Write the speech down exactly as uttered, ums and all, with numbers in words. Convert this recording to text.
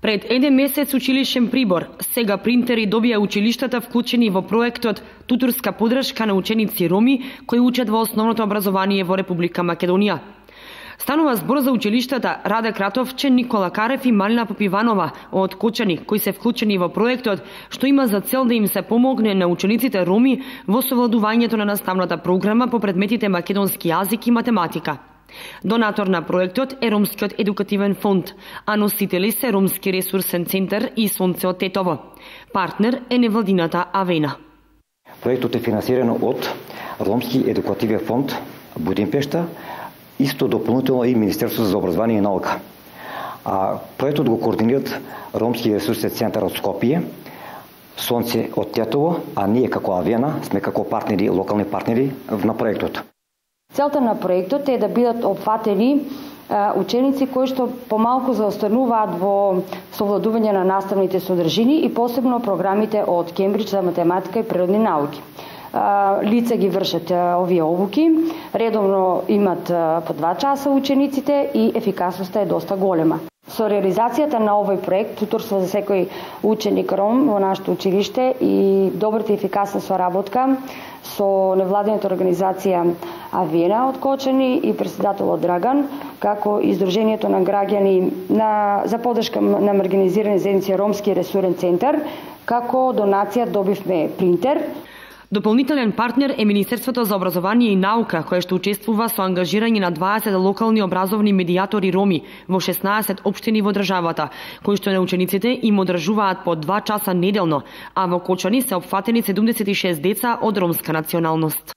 Пред еден месец училишен прибор, сега принтери добија училиштата вклучени во проектот Тутурска подршка на ученици роми кои учат во основното образование во Република Македонија. Станува збор за училиштата Раде Кратовче, Никола Карев и Малина Попиванова од Кочани, кои се вклучени во проектот, што има за цел да им се помогне на учениците роми во совладувањето на наставната програма по предметите македонски јазик и математика. Донатор на проектот е Ромскиот едукативен фонд, а носители се Ромски ресурсен центар и Сонце од Тетово. Партнер е невладината Авена. Проектот е финансиран од Ромски едукативен фонд Будимпешта, исто дополнително и Министерството за образование и наука. А проектот го координират Ромски ресурсен центар од Скопје, Сонце од Тетово, а ние како Авена сме како партнери, локални партнери на проектот. Целта на проектот е да бидат опфатени ученици кои што помалку заостануваат во совладување на наставните содржини и посебно програмите од Кембридж за математика и природни науки. Лица ги вршат овие обуки, редовно имат по два часа учениците и ефикасноста е доста голема. Со реализацијата на овој проект, туторство за секој ученик ром во нашето училиште и добрата и ефикасна соработка со невладината организација Авена од Кочани и председателот Драган, како и Издруженијето на граѓани на, за поддршка на маргинализирани заедници Ромски ресурсен центар, како донација добивме принтер. Дополнителен партнер е Министерството за образование и наука, кое што учествува со ангажирање на дваесет локални образовни медијатори роми во шеснаесет општини во државата, кои што на учениците им одржуваат по два часа неделно, а во Кочани се опфатени седумдесет и шест деца од ромска националност.